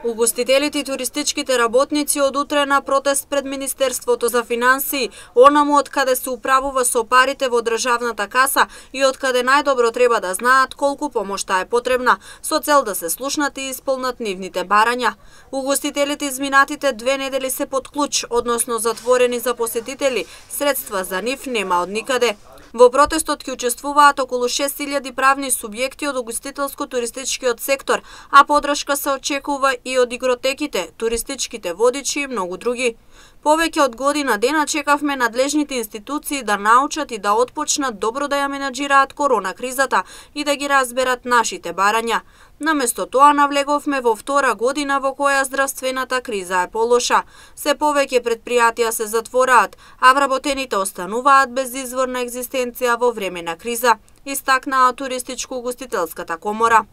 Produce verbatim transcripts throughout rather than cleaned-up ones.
Угостителите и туристичките работници од утре на протест пред Министерството за финансии, онаму од каде се управува со парите во државната каса и од каде најдобро треба да знаат колку помошта е потребна, со цел да се слушнат и исполнат нивните барања. Угостителите изминатите две недели се под клуч, односно затворени за посетители, средства за нив нема од никаде. Во протестот ќе учествуваат околу шест илјади правни субјекти од угостителско-туристичкиот сектор, а подршка се очекува и од игротеките, туристичките водичи и многу други. Повеќе од година дена чекавме надлежните институции да научат и да отпочнат добро да ја менаџираат корона кризата и да ги разберат нашите барања. Наместо тоа навлеговме во втора година во која здравствената криза е полоша. Се повеќе предпријатија се затвораат, а вработените остануваат без изворна екзистенција во време на криза, истакнаа Туристичко-угостителската комора.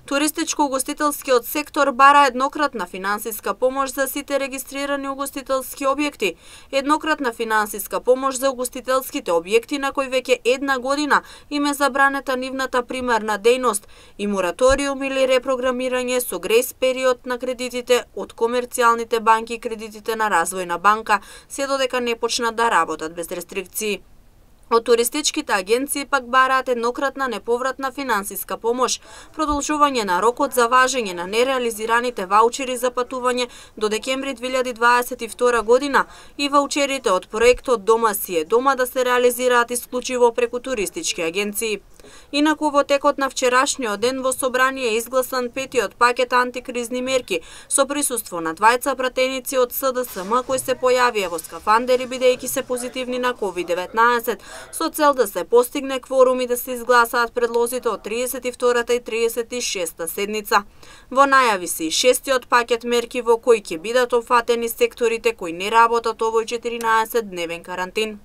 Туристичко-угостителскиот сектор бара еднократна финансиска помош за сите регистрирани угостителски објекти, еднократна финансиска помош за угостителските објекти на кои веќе една година им е забранета нивната примарна дејност и мораториум или репрограмирање со грејс период на кредитите од комерцијалните банки и кредитите на Развојна банка, се додека не почнат да работат без рестрикции. Од туристичките агенции пак бараат еднократна неповратна финансиска помош, продолжување на рокот за важење на нереализираните ваучери за патување до декември две илјади дваесет и втора година и ваучерите од проектот Дома си е дома да се реализираат исклучиво преку туристички агенции. Инаку во текот на вчерашниот ден во собрание е изгласан петиот пакет антикризни мерки со присуство на двајца пратеници од С Д С М кои се појавија во скафандери бидејќи се позитивни на ковид деветнаесет, со цел да се постигне кворум и да се изгласаат предлозите од триесет и втората и триесет и шеста седница. Во најави се и шестиот пакет мерки во кои ќе бидат опфатени секторите кои не работат овој четиринаесет дневен карантин.